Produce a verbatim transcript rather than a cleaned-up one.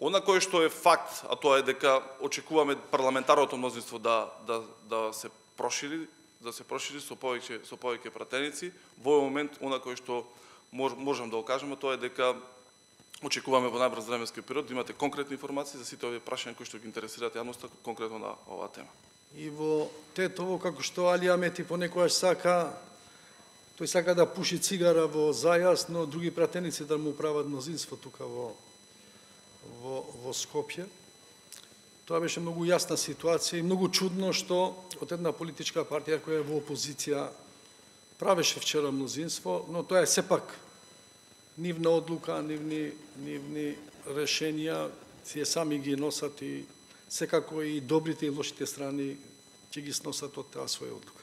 Она кое што е факт, а тоа е дека очекуваме парламентарното мнозинство да да да се прошири, да се прошири со повеќе со повеќе пратеници. Во овој момент она кое што мож, можам да го кажеме тоа е дека очекуваме во најбрз временски период да имате конкретни информации за сите овие прашања кои што ги интересираат јавноста конкретно на оваа тема. И во Тетово, како што Али Амети понекогаш сака, тој сака да пуши цигара во зајас, но други пратеници да му прават мнозинство тука во во во Скопје. Тоа беше многу јасна ситуација и многу чудно што од една политичка партија која е во опозиција правеше вчера мнозинство, но тоа е сепак нивна одлука, нивни нивни решенија, тие сами ги носат и секако и добрите и лошите страни ќе ги сносат од таа своја одлука.